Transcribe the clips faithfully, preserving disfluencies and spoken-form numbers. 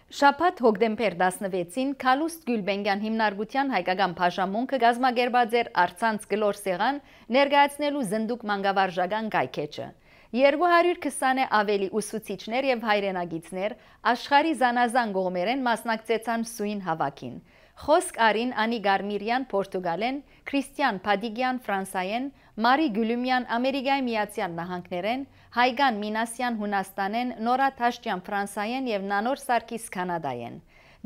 Շաբաթ հոկտեմբեր տասնվեցին Քալուստ Գյուլբենգյան հիմնարկության հայկական բաժանմունքը կազմակերպած էր առցանց գլոր սեղան ներկայացնելու զնդուկ մանկավարժական կայքէջը։ երկու հարյուր քսան ավելի ուսուցիչներ եւ հայրենագիցներ աշխարհի զանազան կողմերեն մասնակցեցան սույն հավաքին։ Խոսք արին Անի Գարմիրյան Պորտուգալեն, Քրիստիան Փադիգյան Ֆրանսայեն, Մարի Գյուլումյան Ամերիկայի Միացյալ Նահանգներեն, Հայգան Մինասյան Հունաստանեն, Նորա Թաշտյան Ֆրանսայեն եւ Նանոր Սարգիս Կանադայեն։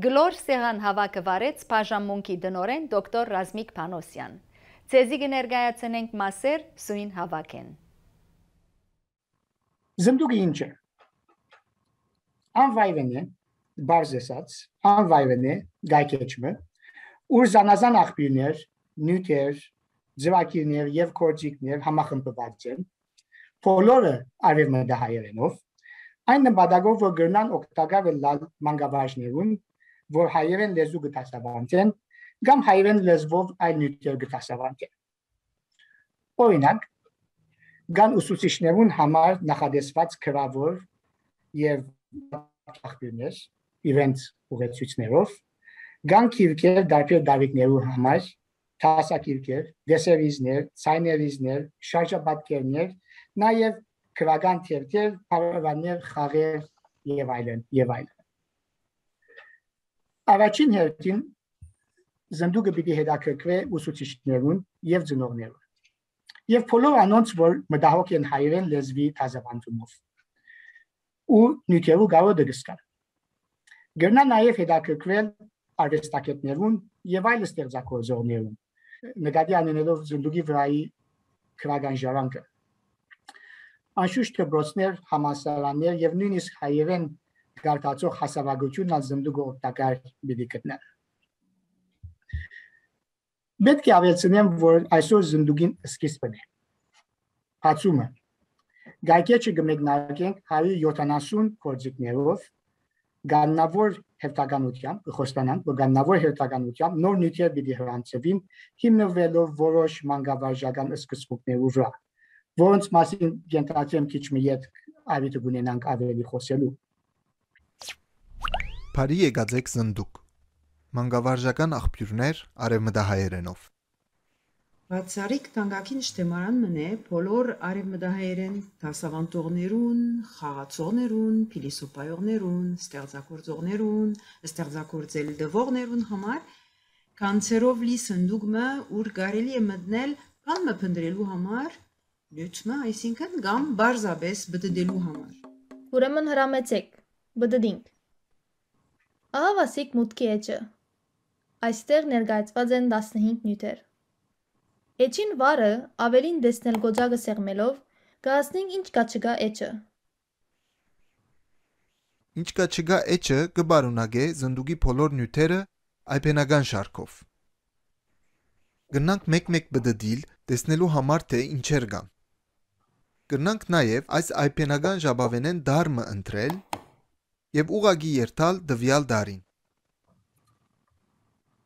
Գլոր սեղան հավաքը վարեց բաժանմունքի դնորեն դոկտոր Ռազմիկ Փանոսյան։ Ցեզի կներկայացնենք մասեր սույն հավաքեն։ Զնդուկը ինչ է։ Անվայրեն է, բարձ ասած, անվայրեն է գայքեջը, ուր զանազան աղբյուրներ, նյութեր, ձևակիրներ եւ կորձիկներ համախմբված են, բոլորը արևմտահայերենով, այն նպատակով, որ գրնան օգտակար լալ մանկավարժներուն, որ հայերեն լեզու գտասավանդեն, կամ հայերեն լեզվով այլ նյութեր գտասավանդեն։ Օրինակ, կան ուսուցիչներուն համար նախադեсված գրավոր եւ աղբյուրներ, իրենց ուղեցույցներով, կան քիրքեր դարբեր դավիթներու համար, տասակիրքեր, դեսերիզներ, ցայներիզներ, շարժապատկերներ, նաեւ քրական թերթեր, փառարաններ, խաղեր եւ այլն եւ այլն։ Առաջին հերթին զնդուկը պիտի հետաքրքրե ուսուցիչներուն եւ ծնողներուն։ Եվ բոլոր անոնց, որ մտահոգ են հայերեն լեզվի դասավանդումով ու նյութերու գարո դգստան։ Գրնա նաև հետաքրքրել արվեստագետներուն եւ այլ ստեղծագործողներուն, նկատի առնելով զնդուկի վրայի քրական ժառանգը։ Անշուշտ դպրոցներ, համալսարաններ եւ նույնիսկ հայերեն գարտացող հասարակությունն ալ զնդուկը օգտակար պիտի գտնեն։ Պետք է ավելցնեմ, որ այսօր զնդուկին սկիզբն է։ Բացումը։ Գայքեջը կմեկնարկենք հարյուր յոթանասուն գործիքներով, գաննավոր հերթականությամբ, խոստանանք, որ գաննավոր հերթականությամբ նոր նյութեր պիտի հրանցվին, հիմնվելով որոշ մանկավարժական սկզբունքներու վրա, որոնց մասին ենթադրեմ քիչ մի ետ ավիտ կունենանք ավելի խոսելու։ Փարի եկածեք զնդուկ։ Մանկավարժական աղբյուրներ արևմտահայերենով։ Բացառիկ տանգակին շտեմարան մնե բոլոր արևմտահայերեն դասավանդողներուն, խաղացողներուն, փիլիսոփայողներուն, ստեղծագործողներուն, ստեղծագործել դվողներուն համար կանցերով լի սնդուկը, ուր կարելի է մտնել կամ մփնդրելու համար, լուծմը, այսինքն կամ բարձաբես բդդելու համար։ Ուրեմն հրամեցեք, բդդինք։ Ահա վասիկ մուտքի էջը։ Այստեղ ներկայացված են տասնհինգ նյութեր։ Էջին վարը ավելին դեսնել գոջակը սեղմելով կհասնենք ինչ կա չկա էջը։ Ինչ կա չկա էջը կբարունագե զնդուկի բոլոր նյութերը այբենական շարքով։ Գնանք մեկ-մեկ բդդիլ տեսնելու համար թե ինչեր կան։ Գնանք նաև այս այբենական ժապավենեն դարմը ընտրել եւ ուղագի երթալ դվյալ դարին։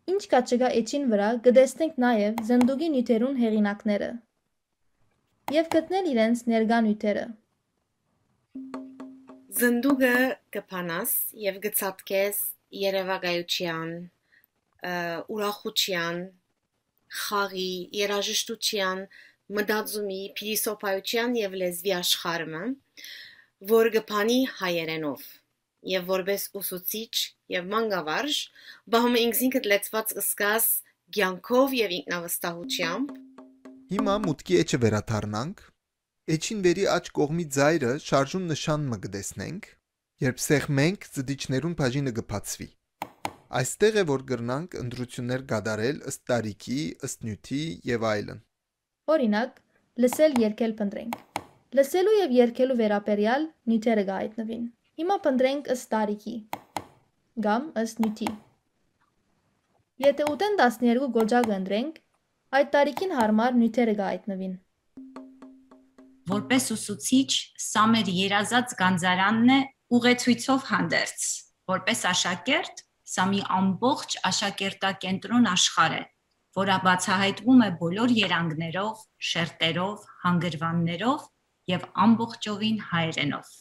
Ինչ կա չկա էջին վրա կտեսնենք նաև զնդուկի նյութերուն հեղինակները եւ գտնել իրենց ներկա նյութերը։ Զնդուկը կփանաս եւ գծատկես երևակայության, ուրախության, խաղի, երաժշտության, մտածումի, փիլիսոփայության եւ լեզվի աշխարհը, որ կփանի հայերենով։ Եվ որպես ուսուցիչ եւ մանկավարժ բահում ինքնին լեցված սկաս ցանկով եւ ինքնավստահությամբ Հիմա մուտքի էջը վերաթարնանք էջին վերի աջ կողմի ձայրը շարժուն նշանը կտեսնենք երբ սեղմենք ծդիչներուն բաժինը կփածվի այստեղ է որ կրնանք ընտրություններ կատարել ըստ տարիքի ըստ նյութի եւ այլն Օրինակ լսել երգել փնտրենք լսելու եւ երգելու վերաբերյալ նյութերը կհայտնվին Հիմա փնտրենք ըստ տարիքի կամ ըստ նյութի։ Եթե ուտեն տասներկու գոջակ ընտրենք, այդ տարիքին հարմար նյութերը կհայտնվին։ Որպես ուսուցիչ, սա մեր երազած գանձարանն է ուղեցույցով հանդերձ։ Որպես աշակերտ, սա մի ամբողջ աշակերտակենտրոն աշխարհ է, որը բացահայտվում է բոլոր երանգներով, շերտերով, հանգրվաններով եւ ամբողջովին հայերենով։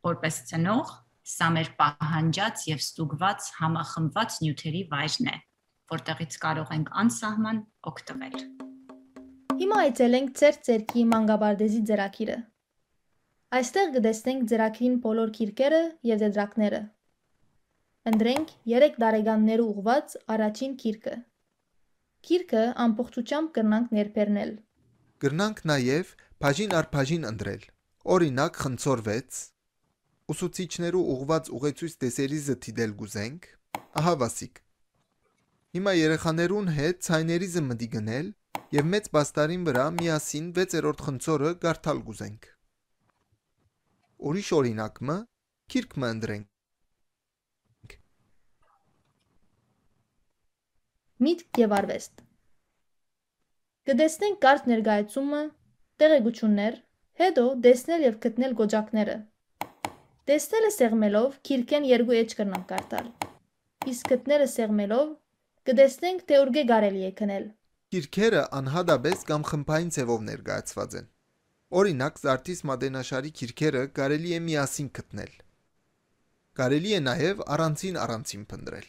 Որպես ծնող, Սա մեր պահանջած եւ ստուգված համախմբված նյութերի վայրն է, որտեղից կարող ենք անսահման օգտվել։ Հիմա այցելենք ծեր ծերքի մանկաբարձի ձեռագիրը։ Այստեղ կտեսնենք ձեռագիրին բոլոր քիրքերը եւ դեդրակները։ Ընտրենք երեք տարեկաններու ուղված առաջին քիրքը։ Քիրքը ամբողջությամբ կրնանք ներբեռնել։ Կրնանք նաև բաժին առ բաժին ընտրել։ Օրինակ խնձոր վեց, ուսուցիչներու ուղված ուղեցույց տեսերիզը թիդել գուզենք, ահա Վասիկ։ Հիմա երեխաներուն հետ ցայներիզը մտի գնել եւ մեծ բաստարին վրա միասին վեցերորդ խնձորը գարթալ գուզենք։ Ուրիշ օրինակը քիրքը ընտրենք։ Միտք եւ արվեստ։ Կտեսնենք կարճ ներկայացումը, տեղեկություններ, հետո տեսնել եւ գտնել գոճակները։ Տեսնելը սեղմելով քիրքեն երկու էջ կրնանք կարդալ։ Իսկ գտնելը սեղմելով կտեսնենք թե ուր կարելի է քնել։ Քիրքերը անհադաբես կամ խմբային ձևով ներկայացված են։ Օրինակ Զարթիս Մադենաշարի քիրքերը կարելի է միասին գտնել։ Կարելի է նաև առանցին առանցին փնտրել։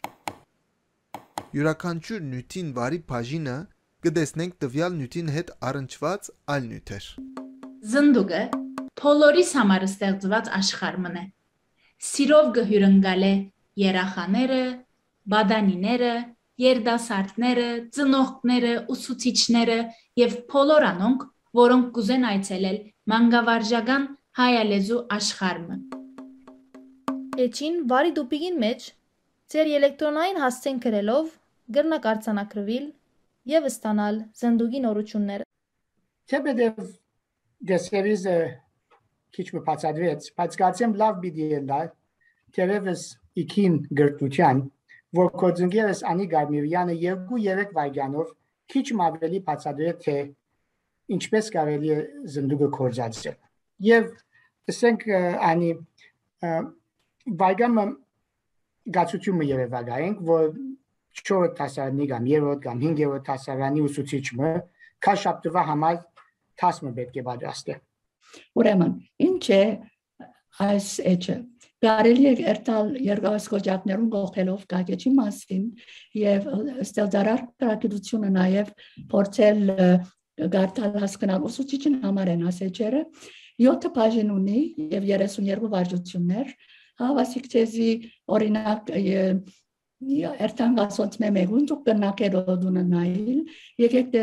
Յուրաքանչյուր նյութին վարի բաժինը կտեսնենք տվյալ նյութին հետ առնչված այլ նյութեր։ Զնդուկը բոլորիս համար ստեղծված աշխարհն է։ Սիրով գհյուրընկալ է երախաները, բադանիները, երդասարտները, ծնողները, ուսուցիչները եւ բոլոր անոնք, որոնք կուզեն այցելել մանկավարժական հայալեզու աշխարհը։ Էջին վարի դուպիգին մեջ ձեր էլեկտրոնային հասցեն գրելով գրնակ արձանագրվել եւ ստանալ զնդուկի նորությունները։ Թեպետև դեսերիզը քիչ մի բացատրեց, բայց կարծեմ լավ պիտի ելա, թերևս իքին գրտության, որ կոծնգերս Անի Գարմիրյանը երկու երեք վայրկյանով քիչ ավելի բացատրեց, թե ինչպես կարելի է զնդուկը կորզածել։ Եվ ասենք Անի վայրկյանը գացությունը երևակայենք, որ չորրորդ դասարանի կամ երրորդ կամ հինգերորդ դասարանի ուսուցիչը քաշապտվա համար տասը պետք է պատրաստի։ Ուրեմն, ինչ է այս էջը։ Կարելի է երթալ երկրաշրջաններում գողելով գագեջի մասին եւ ստեղծարար գրագիտությունը նաեւ փորձել գարտալ հասկանալ ուսուցիչին համար են ասեջերը յոթ բաժին ունի եւ երեսունյերկու վարժություններ հավասիկ ցեզի օրինակ երթան գասոնց մեմեգուն դուք կնակերո դունը նայել եկեք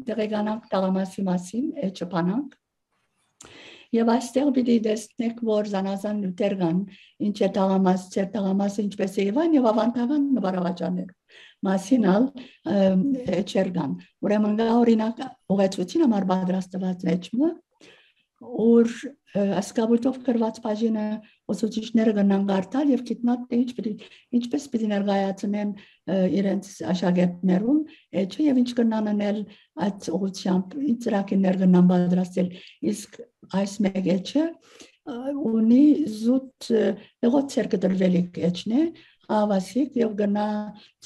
դեղեկանանք տաղամասի մասին էջը բանանք Եվ այստեղ պիտի տեսնեք, որ զանազան նյութեր կան, ինչ է տաղամաս, չեր տաղամասը ինչպես է Եվան եւ ավանդական նվարավաճաններ մասին ալ էջեր կան։ Ուրեմն գա օրինակ ուղեցույցին համար պատրաստված էջը, որ ասկաբույթով գրված բաժինը ուսուցիչները կնան կարդալ եւ գիտնալ թե ինչ պիտի ինչպես պիտի ներկայացնեն իրենց աշակերտներուն էջը եւ ինչ կնան անել այդ ուղղությամբ ինչ ծրագիրներ կնան պատրաստել իսկ այս մեկ էջը ունի զուտ դեղոցեր կդրվելիք էջն է ավասիկ եւ գնա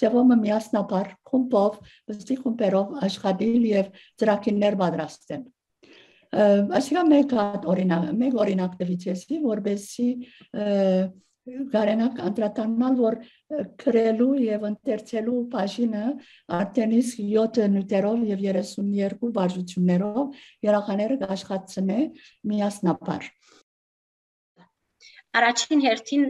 ծավալը միասնապար խումբով վստի խումբերով աշխատել եւ ծրագիրներ պատրաստել Այսինքն մեկ օրինակ, մեկ օրինակ տվիցեսի, որբեսի գարենակ անդրադառնալ, որ քրելու եւ ընթերցելու բաժինը արդեն իսկ յոթ նյութերով եւ երեսունյերկու վարժություններով երախաները կաշխատցնե միասնապար։ Առաջին հերթին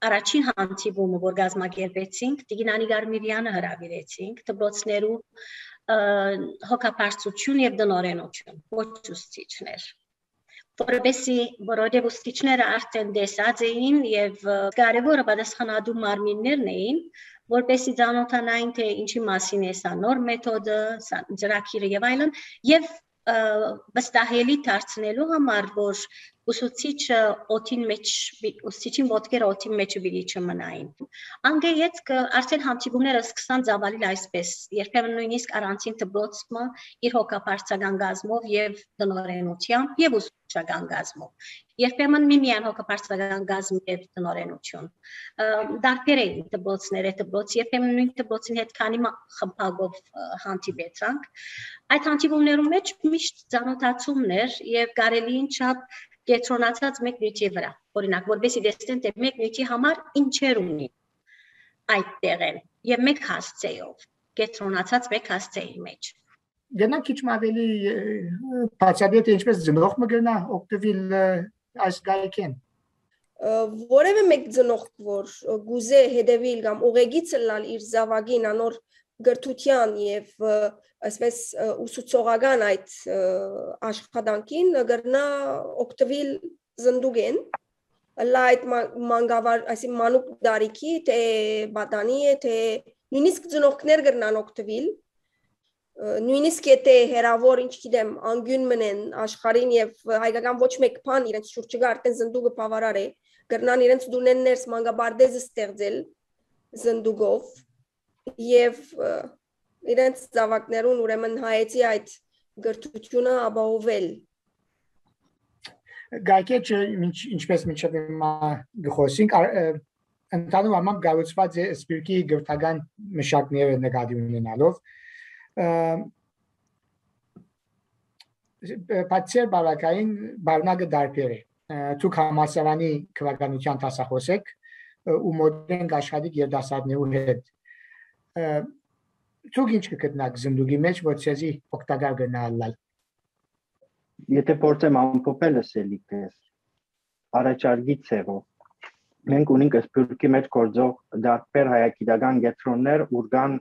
առաջին հանդիպումը, որ գազմագերբեցինք, Տիգնանի Գարմիրյանը հրավիրեցինք, դպրոցներու հոգապարծություն եւ դնորենություն, ոչ ուսուցիչներ։ Որովհետեւ որովհետեւ ուսուցիչները արդեն դեսած էին եւ կարևորը պատասխանատու մարմիններն էին, որպեսզի ծանոթանային թե ինչի մասին է սա նոր մեթոդը, ծրագիրը եւ այլն, եւ վստահելի դարձնելու համար, որ ուսուցիչը օթին մեջ, ուսուցիչին ոտքերը օթին մեջ բիլի չմնային։ Անգեյեց արդեն հանդիպումները սկսան ծավալել այսպես, երբեմն նույնիսկ առանցին դպրոցը իր հոգապարծական գազմով եւ դնորենությամբ եւ ուսուցչական գազմով։ Երբեմն միմիան հոգապարծական գազմ եւ դնորենություն։ Դարբեր էին դպրոցները, դպրոց երբեմն նույն դպրոցին հետ քանի խմբակով հանդիպեցանք։ Այդ հանդիպումներում մեջ միշտ ծանոթացումներ եւ կարելին չափ կենտրոնացած մեկ նյութի վրա։ Օրինակ, որովհետեւ տեսնեն թե մեկ նյութի համար ինչեր ունի այդ տեղեն եւ մեկ հասցեով, կենտրոնացած մեկ հասցեի մեջ։ Գնանք քիչ ավելի բացատրել ինչպես ծնող մգնա օգտվել այս գայքեն։ Որևէ մեկ ծնող, որ գուզե հետևել կամ ուղեգիցը լալ իր զավակին անոր գրթության եւ այսպես ուսուցողական այդ աշխատանքին գրնա օգտվել զնդուգեն լայտ մանգավար այսի մանուկ դարիքի թե բադանի թե նույնիսկ ծնողքներ գրնան օգտվել նույնիսկ եթե հերավոր ինչ գիտեմ անգյուն մնեն աշխարհին եւ հայկական ոչ մեկ բան իրենց շուրջը արդեն զնդուգը բավարար է գրնան իրենց դունեն ներս մանգաբարդեզը ստեղծել զնդուգով եւ իրենց զավակներուն ուրեմն հայեցի այդ գրթությունը ապահովել Գայքեչը ինչպես միջև հիմա գխոսինք ընդհանուր առմամբ գառուցված է սպիրկի գրթական մշակները նկատի ունենալով Պատսեր բավականին բարնակը դարբեր է Ցուկ համասարանի քվականության տասախոսեք ու մոդեն աշխատիկ երդասարդներու հետ Ցուկ ինչ կգտնակ զնդուգի մեջ որ ցեզի օգտակար գնալալ Եթե փորձեմ ամփոփել ասելիքս առաջարկի ցևով մենք ունենք սպյուրքի մեջ գործող դարբեր հայագիտական գետրոններ ուրգան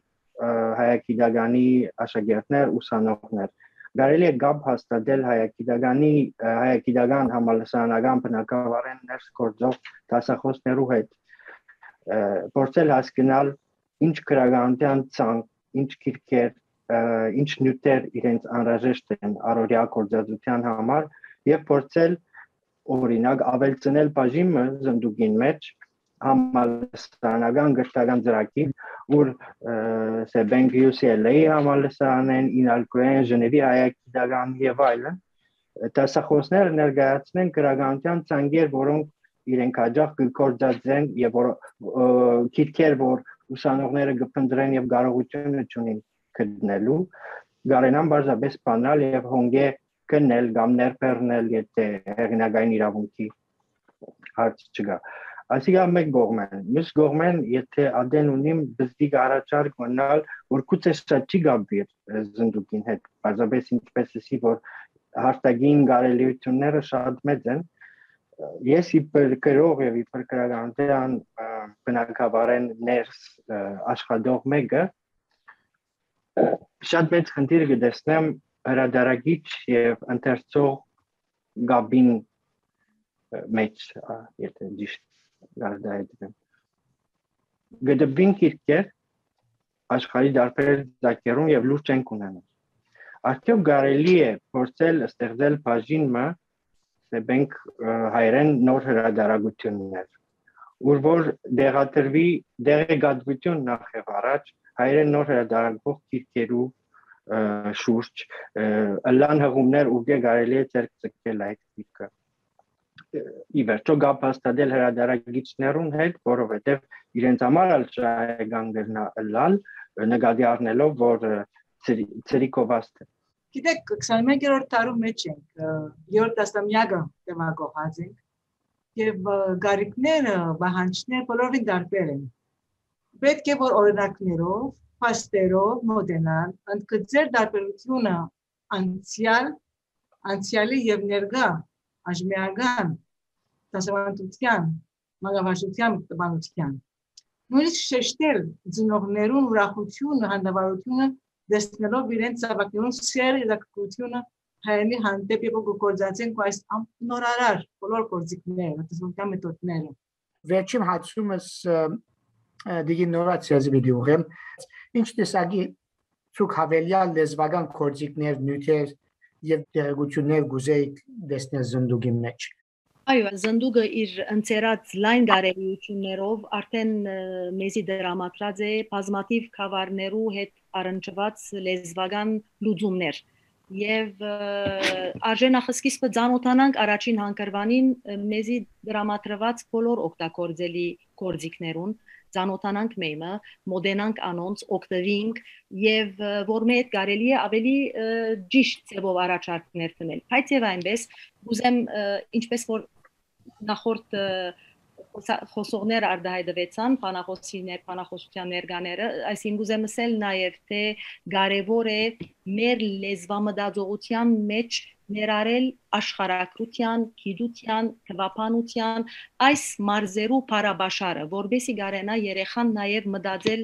հայագիտականի աշակերտներ ուսանողներ Գարելի է գապ հաստատել հայագիտականի հայագիտական համալսարանական բնակավարեն ներս գործող դասախոսներու հետ փորձել հասկանալ ինչ քրագանության ցանկ ինչ քիրքեր ինչ նյութեր իրենց անհրաժեշտ են առօրյա գործածության համար եւ փորձել օրինակ ավելցնել բաժինը զնդուգին մեջ համալսարանական գրթական ծրագիր որ սեբենք յու սի ել էյ համալսարանեն ինալկոեն ժնևի հայագիտական եւ այլն դասախոսները ներկայացնեն քրագանության ցանկեր որոնք իրենք հաջող կգործածեն եւ որ քիրքեր որ ուսանողները կփնտրեն եւ կարողությունը ունեն գտնելու գարենան բարձրապես բանալ եւ հոնգե կնել կամ ներբեռնել եթե հեղինակային իրավունքի հարց չկա Այսինքն մեկ կողմեն, մյուս կողմեն, եթե ադեն ունիմ բզդիկ առաջարկ մնալ, որ կուծե շատ չի գաբվիր զնդուկին հետ, բարձրապես ինչպես էսի, որ հարտագին գարելիությունները շատ մեծ են, ես իպր կրող և իպր կրագանտյան բնակավարեն ներս աշխատող մեկը, շատ մեծ խնդիր կտեսնեմ հրադարագիչ և ընթերցող գաբին մեջ, եթե ճիշտ Գարդայդրեմ Գդբին քիրքեր աշխարհի դարբեր զակերուն եւ լուրջ են ունենալ Արդյոք կարելի է փորձել ստեղծել բաժինը սեբենք հայերեն նոր հրադարագություններ ուր որ դեղատրվի դեղեկատվություն նախ եւ առաջ հայերեն նոր հրադարագող քիրքերու շուրջ ըլլան հղումներ ու կարելի է ցերկ ցկել այդ քիրքը Իվերջո գապ հաստատել հրադարագիչներուն հետ, որովհետև իրենց համար ալ շահեգան գրնա լալ, նկատի առնելով, որ ծրիկովաստ է։ Գիտեք, քսանմեկերորդ դարում մեջ ենք, երրորդ տասնամյակը տեղակողած ենք, եւ գարիկները, բահանջները բոլորին դարբեր են։ Պետք է որ օրինակներով, փաստերով մոտենալ, ընդգծել դարբերությունը անցյալ, անցյալի եւ ներկա Աժմեական, դասավանդության, մագավաշության տպանության։ Նույնիսկ շեշտել ծնողներուն ուրախությունը, հանդավարությունը դեսնելով իրենց զավակներուն սեր իրակությունը հայանի հանդեպ եւ գործածենք այս նորարար բոլոր գործիքները, դասավանդության մեթոդները։ Վերջին հացումս դիգինորացիա զիդի ուղեմ, ինչ տեսակի ցուկ հավելյալ լեզվական գործիքներ, նյութեր եւ դերակցություններ գուզեիք դեսնել զնդուգի մեջ Այո, զնդուգը իր ընծերած լայն գարելիություններով արդեն մեզի դրամատրած է բազմաթիվ խավարներու հետ առնչված լեզվական լուծումներ եւ արժանախսկիզբը ցանոթանանք առաջին հանգրվանին մեզի դրամատրված բոլոր օգտագործելի գործիքներուն ծանոթանանք մեմը, մոդենանք անոնց, օգտվենք եւ որ մեծ կարելի է ավելի ճիշտ ձևով առաջարկներ տնել։ Բայց եւ այնպես ուզեմ ինչպես որ նախորդ խոսողներ արդահայտվեցան բանախոսիներ, բանախոսության ներկաները, այսինքն ուզեմ ասել նաև թե կարևոր է մեր լեզվամտածողության մեջ ներառել աշխարհագրության, գիտության, թվապանության այս մարզերու բարաբաշարը, որբեսի կարենա երեխան նաև մտածել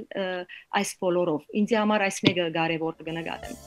այս բոլորով։ Ինձ համար այս մեկը կարևոր կնկատեմ։